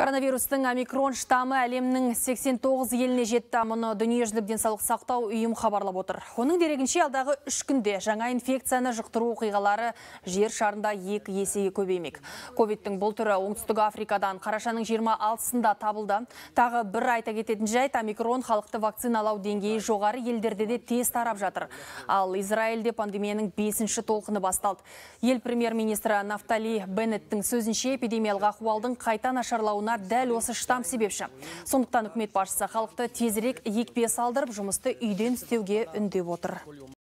Коронавирустың омикрон штамы әлемнің 89 еліне жетті. Мұны дүниежүзілік денсаулық сақтау ұйым хабарлап отыр. Оның дерегінше алдағы 3 күнде жаңа инфекцияны жұқтыру оқиғалары жер шарында 2 есеге көбеймек. Ковидтің бұл түрі оңтүстік Африкадан қарашаның 26-сында табылды. Тағы бір айта кететін жайт, омикрон халықты вакциналау деңгейі жоғары елдерде де тез тарап жатыр. Ал Израильде пандемияның 5-ші толқыны басталды. Ел премьер-министрі Нафтали Беннеттің сөзінше эпидемиялық ахуалдың қайта нашарлауына дәл осы штамм себепші. Сондықтан үкімет басшысы халықты тезірек екпе салдырып, жұмысты үйден істеуге үндеп отыр.